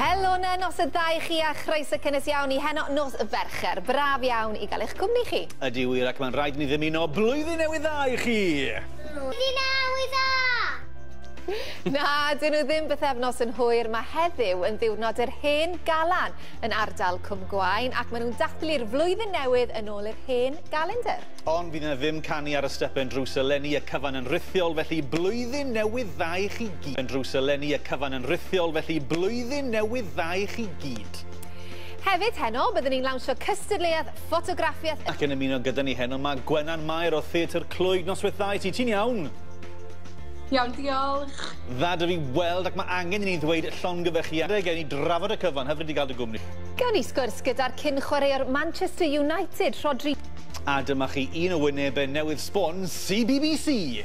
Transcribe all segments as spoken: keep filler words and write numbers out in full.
Helo na, nos y ddau chi a chroeso cynnes iawn i heno nos Fercher. Braf iawn i gael eich cwmni chi. Ydy wir, ac mae'n rhaid ni ddymuno blwyddyn newydd dda i chi. Blwyddyn newydd dda! Na, dyn nhw ddim bythefnos yn hwyr. Mae heddiw yn ddiwrnod yr hen galan yn ardal Cwm Gwaun, ac maen nhw'n dathlu'r flwyddyn newydd yn ôl yr hen galendr. Ond fydd yna ddim canu ar y stepen drws eleni, y cyfan yn rithiol, felly blwyddyn newydd dda i chi gyd. Yn drws eleni, y cyfan yn rithiol, felly blwyddyn newydd dda i chi gyd. Hefyd heno, byddwn ni'n lawnsio cystadleuaeth ffotograffiaeth. Ac yn ymuno gyda ni heno mae Gwenan Mair o Theatr Clwyd. Noswaith dda i ti, ti'n iawn? Iawn, diolch. Dda dy fi weld, ac mae angen i ni ddweud llongyfarchiadau gen i drafod y cyfan, hyfryd i gael dy gwmni. Gawn ni sgwrs gyda'r cyn chwaraewr Manchester United, Rhodri. A dyma chi un o wynebau newydd sbon C B B C.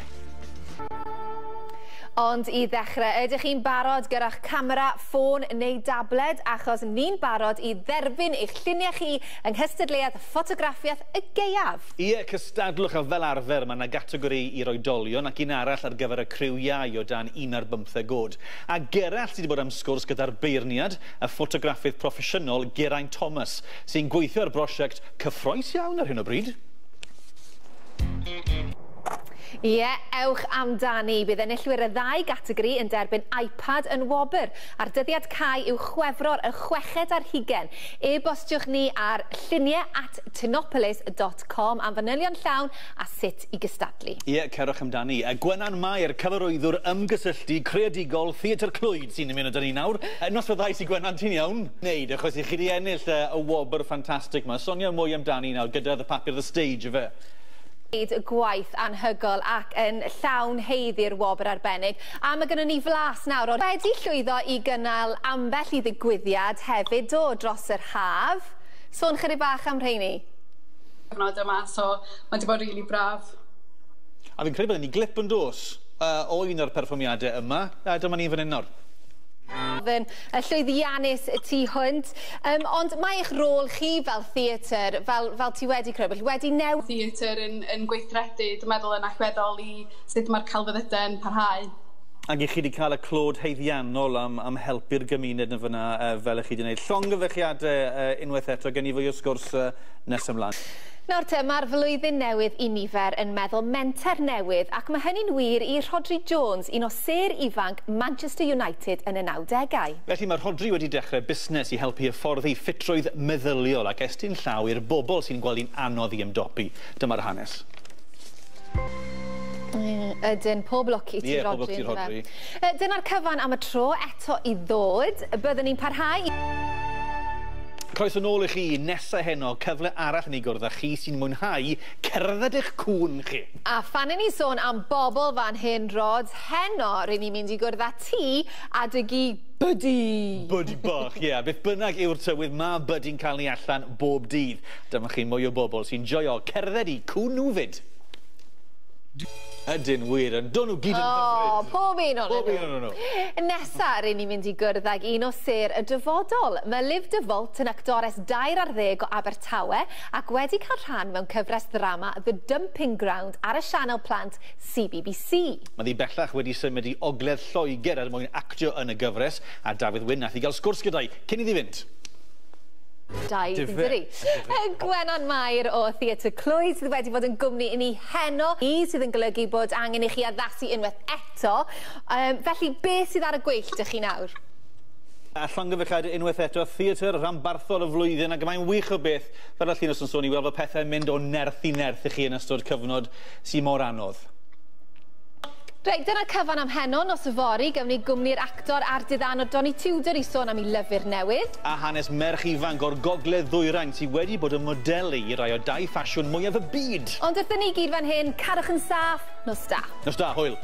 Ond i ddechrau, ydych chi'n barod gyda'ch camera, ffôn neu dabled, achos ni'n barod i dderbyn eich lluniau chi yng nghystadleuaeth ffotograffiaeth y gaeaf. Ie, cystadlwch, a fel arfer mae yna gategori i'r oedolion ac un arall ar gyfer y criw iau o dan un ar bymtheg oed. A Gerallt sydd wedi bod am sgwrs gyda'r beirniad, y ffotograffydd proffesiynol Geraint Thomas, sy'n gweithio ar brosiect cyffrous iawn ar hyn o bryd. Ie, ewch amdani. Bydd enillwyr y ddau gategori yn derbyn iPad yn wobr. A'r dyddiad cau yw Chwefror y chweched ar hugain. E-bostiwch ni ar lluniau at tinopolis dot com am fanylion llawn a sut i gystadlu. Ie, cerwch amdani. Gwenan Mair, cyfarwyddwr ymgysylltu creadigol Theatr Clwyd sy'n ymuno 'da ni nawr. Noswaith dda i ti, Gwenan, ti'n iawn? Neud, achos i chi wedi ennill y wobr ffantastig yma. Sonia mwy amdani nawr gyda The Papur The Stage, ife? Gwaith anhygol ac yn llawn heiddi'r wobr arbennig. A mae gynnon ni flas nawr o wedi llwyddo i gynnal ambell i ddigwyddiad hefyd do dros yr haf. Sôn chydig bach am rheini. Cyfnod yma, so mae wedi bod rili really braf. A fi'n credu bod ni glip yn dos uh, o un o'r perfformiadau yma. A dyma ni fan hyn nawr. Yn llwyddiannus tu hwnt, um, ond mae eich rôl chi fel theatr, fel, fel ti wedi crybwyll, wedi newid. Theatr yn, yn gweithredu, dwi'n meddwl yn allweddol i sut mae'r celfyddydau yn parhau. Ac i chi wedi cael y clod haeddiannol am, am helpu'r gymuned yn fyna uh, fel ych chi wedi gwneud. Llongyfarchiadau uh, unwaith eto, gen i fwy o sgwrs uh, nes ymlaen. Nawr te, mae'r flwyddyn newydd i nifer yn meddwl menter newydd, ac mae hynny'n wir i Rhodri Jones, un o sêr ifanc Manchester United yn y nawdegau. Felly mae Rhodri wedi dechrau busnes i helpu hyfforddi ffitrwydd meddyliol ac estyn llaw i'r bobl sy'n gweld hi'n anodd i ymdopi. Dyma'r hanes. Ydyn, pob lwc i ti, yeah, Rhodri. Pob lwc i ti, Rhodri. Dyna'r cyfan am y tro eto i ddod. Byddwn ni'n parhau. Croeso nôl i chi nesa heno, cyfle arall i ni gwrdd â chi sy'n mwynhau cerdded eich cŵn chi. A phan i ni sôn am bobl fan hyn, Rod, heno rydyn ni'n mynd i gwrdd â ti a dy gi Buddy. Buddy bach, ie. Yeah. Beth bynnag yw'r tywydd, mae Buddy'n cael ni allan bob dydd. Dyma chi mwy o bobl sy'n joio cerdded i cŵn nhw fyd. Ydyn wir, yn dod nhw gyd yn O, pob un o'n Pob un o'n nhw. Nesa, rydyn ni'n mynd i gwrdd ag un o sêr y dyfodol. Mae Liv DeVault yn actores dair ar ddeg o Abertawe ac wedi cael rhan mewn cyfres ddrama The Dumping Ground ar y sianel plant C B B C. Mae ddi bellach wedi symud i Ogledd Lloegr er mwyn actio yn y gyfres, a Dafydd Wyn nath i gael sgwrs gyda'i cyn iddi fynd. Dau, dydi. Gwenan Mair o Theatr Clwyd sydd wedi bod yn gwmni i ni heno, i sydd yn golygu bod angen i chi addasu unwaith eto. Um, felly, beth sydd ar y gweill dych chi nawr? A llongyfarchiadau unwaith eto, theatr rhanbarthol y flwyddyn, ac mae'n wych o beth, fel y Llinos yn sôn, i weld bod pethau'n mynd o nerth i nerth i chi yn ystod cyfnod sy'n mor anodd. Reit, dyna'r cyfan am heno. Nos yfory, gawn ni gwmni'r actor a'r diddanwr Donny Tudor i sôn am ei lyfr newydd. A hanes merch ifanc o'r Gogledd Ddwyrain sydd wedi bod yn modelu i rai o dau ffasiwn mwyaf y byd. Ond wrthyn ni gyd fan hyn, cadwch yn saff, nos da. Nos da, hwyl.